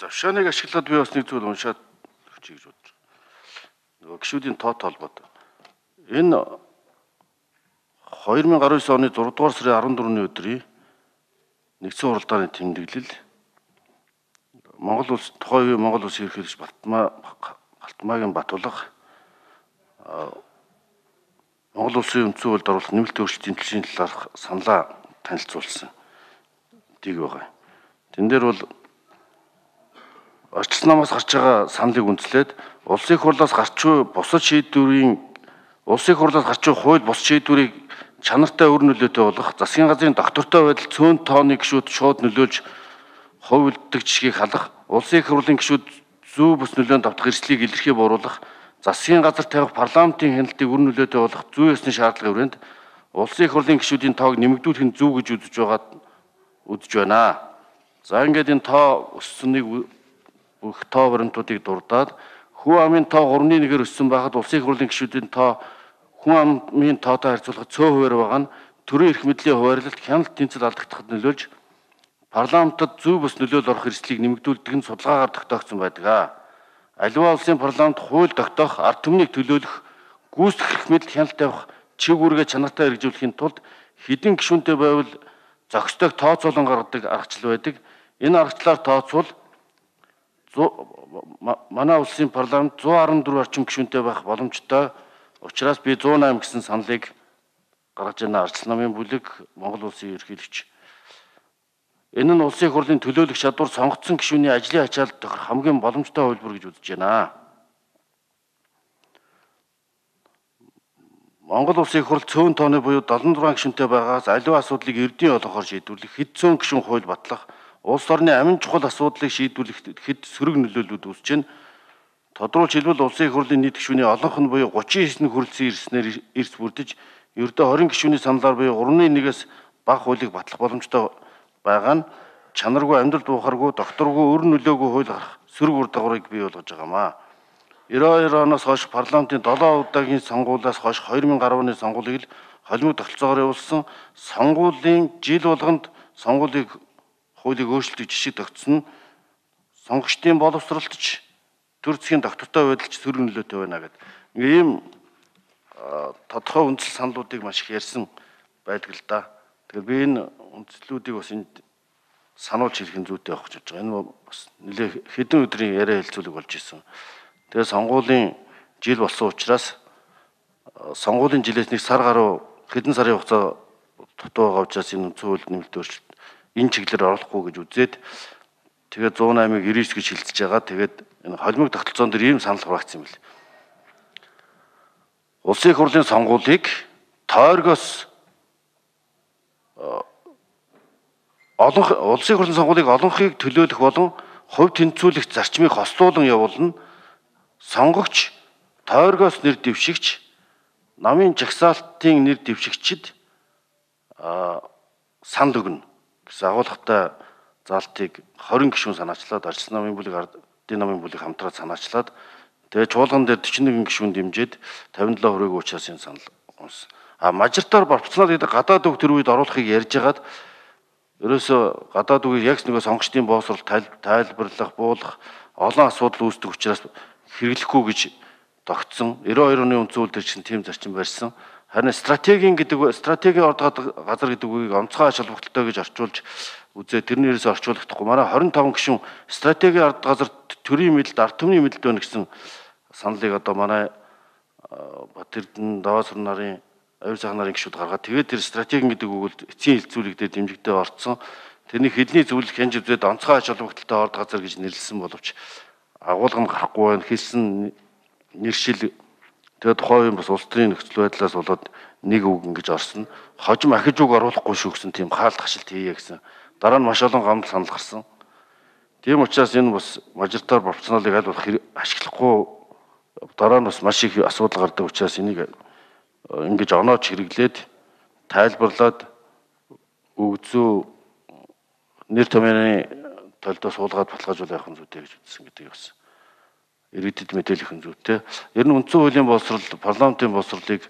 Завшааныг ашиглаад би бас нэг зүйл уншаад өгчий гэж бодож байна. Нөгөө гишүүдийн тоот холбоотой. Энэ 2019 оны 6 дугаар сарын 14-ний өдрийн нэгдсэн хуралдааны тэмдэглэл Монгол улс тухайн үеийн Монгол улсын ерөнхийлөгч Балтмаагийн Батулга Монгол улсын үндсэн хуульд оруулах нэмэлт өөрчлөлтийн төлшийн талаарх саналаа танилцуулсан. Тийг байгаа. Тэн дээр бол арчилсан намаас гарч байгаа саналыг үндэслээд улсын хурлаас гарч буй бусад шийдвэрийн улсын хурлаас гарч буй хууль бус шийдвэрийг чанартай өр нөлөөтэй болгох засгийн газрын доктортой байдал цөөн тооны гишүүд шууд нөлөөлж хувилддаг жишгийг халах, улсын их хурлын гишүүд зүү бус нөлөөнд давтах эрсдлийг илэрхий бууруулах, засгийн газар тавих парламентын хяналтыг өр нөлөөтэй болгох зүй ёсны шаардлагын хүрээнд улсын их хурлын гишүүдийн тоог нэмэгдүүлэх нь зөв гэж үзэж байна. За ингээд энэ тоо өссөнийг бүх тоо баримтуудыг дурдаад хүн амын тоо 3-1-ээр өссөн байхад улсын их хурлын гишүүдийн тоо хүн амын тоотой харьцуулахад цөөн хувиар байгаа нь төрийн эрх мэдлийн хуваарлалт хяналт тэнцэл алдагдахад нөлөөлж парламентод зүй бус нөлөөл орох эрсдлийг нэмэгдүүлдэг нь судалгаагаар тогтоогдсон байдаг. Аливаа улсын парламент хууль тогтоох, ард түмнийг төлөөлөх, гүйцэтгэх эрх мэдэл хяналт тавих чиг үүргээ чанартай хэрэгжүүлэхийн тулд хэдин гишүүнтэй байвал зохистойг тооцоолон гаргадаг аргачлал байдаг. Энэ аргачлалаар тооцвол манай улсын парламент 114 орчим гишүүнтэй байх боломжтой. Учираас би 108 гэсэн саналыг гаргаж байна. Арчилсан намын бүлэг, Монгол улсын ерөнхийлөгч. Энэ нь улсын их хурлын төлөөлөх чадвар сонгогдсон гишүүний ажлын ачаалт тохирох хамгийн боломжтой хувилбар гэж үзэж байна. Монгол улсын их хурл цөөн тооны буюу 76 гишүүнтэй байгаас аливаа асуудлыг эрдийн олонхоор шийдвэрлэх, хэд зуун гишүүн хууль батлах, улс орны амин чухал асуудлыг шийдвэрлэх хэд сөрөг нөлөөллүүд үүсэж байна. Тодруулж хэлбэл улсын их хурлын нийт гишүүний олонх нь буюу 39 хүрэлцэн ирснээр эрс бүрдэж, ердөө 20 гишүүний саналаар буюу 3-1-ээс бага хуулийг батлах боломжтой байгаа нь чанаргүй, амьдрал буухаргүй, докторгүй, өр нөлөөгүй хууль гарах сөрөг үр дагаврыг бий болгож байгаамаа. 92 оноос хойш парламентын 7 удаагийн сонгуулиас хойш 2010 оны сонгуулийг л холимог тогтолцоогоор явуулсан. Сонгуулийн жил болгонд сонгуулийг хуулийг өөрчлөлтийг жишг тогтсон нь сонгогчдын боловсролтч төр засгийн доктортой байдалч сөрөг нөлөөтэй байна гэдэг. Ийм тодорхой үндсэл саналуудыг маш их ярьсан байдаг л да. Тэгэхээр би энэ үндслүүдийг бас энд сануулж хэлэх нь зүйтэй авах гэж байна. Энэ бас нэлээд хэдэн өдрийн яриа хэлцүүлэг болж исэн. Тэгээ сонгуулийн жил болсон учраас сонгуулийн жилээс нэг сар гаруй хэдэн сарын хугацаа дутуу байгаа учраас энэ үндсэн хуульд нэмэлт өөрчлөлт энэ чиглэлээр оруулахгүй гэж үзээд тэгээд 108-ыг 99 гэж хилцэж байгаа. Тэгээд энэ холимог тогтолцоон дээр ийм санал хураагдсан юм бэл. Улсын их хурлын сонгуулийг тойргоос улсын их хурлын сонгуулийг олонхийг төлөөлөх болон хувь тэнцвүүлэх зарчмыг хослуулан явуулна. Сонгогч тойргоос нэр дэвшигч, намын жагсаалтын нэр дэвшигчид санд өгнө гэсэн агуулгатай заалтыг 20 гишүүн санаачлаад арчилсан намын бүлэг, ардын намын бүлэг хамтраад санаачлаад тэгээ чуулган дээр 41 гишүүн дэмжиж 57 хүрээгүй учраас энэ санал унсан. Мажартаар пропорционал гэдэг гадаад үг төр үед оруулахыг ярьж хагаад ерөөсө гадаад үгийг яг нөгөө сонгогчдын боосрол тайлбарлах, буулгах олон асуудал үүсдэг учраас хэрэглэхгүй гэж тогтсон. 92 оны үндсэн хууль дээр чинь тийм зарчим барьсан. Харин стратегийн орд газар гэдэг үгийг онцгой ач холбогдолтой гэж орчуулж үзээ тэрний ерөөсө орчуулахдаггүй. Манай 25 гишүүн стратегийн орд газар төрийн мэдэлд, ард түмний мэдэлд байна гэсэн саналыг одоо манай Бат Эрдэнэ, Даваасрын нарын, Аюул сайхан нарын гишүүд гаргаад тэгээд тэр стратегийн гэдэг үгэл эцсийн хэлцүүлэг дээр дэмжигдээ орцсон. Тэрний хэдний зөвлөх хянж үзээд онцгой ач холбогдолтой орд газар гэж нэрлсэн боловч агуулга нь гарахгүй байна. Хэлсэн нэршил тэгээд тухайн бас улс төрийн нөхцөл байдлаас болоод нэг үг ингэж орсон. Хожим ахиж үг оруулахгүй шүү гэсэн тийм хаалт хашилт хийе гэсэн. Дараа нь маш олон гомдол санал гарсан. Тийм учраас энэ бас мажоритар пропорционалыг аль болох ашиглахгүй дараа нь бас маш их асуудал гардаг учраас энийг ингэж оноож хэрэглээд тайлбарлаад өгзөө нэр томьёоны толдоо суулгаад баталгаажуул явах нь зүйтэй гэж үзсэн гэдэг бас иргэдэд мэдээлэх нь зүйтэй. Ер нь үндсэн хуулийн боловсрол, парламентын боловсролыг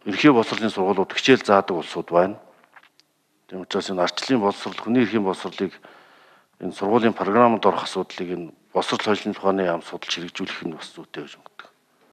ерхий боловсролын сургуулиуд хичээл заадаг улсууд байна. Тийм учраас энэ арчлалын боловсрол, хүний эрхийн боловсролыг энэ сургуулийн програмд орох асуудлыг энэ босрол хойшлын тухааны яам судалж хэрэгжүүлэх нь бас зүйтэй гэж байна.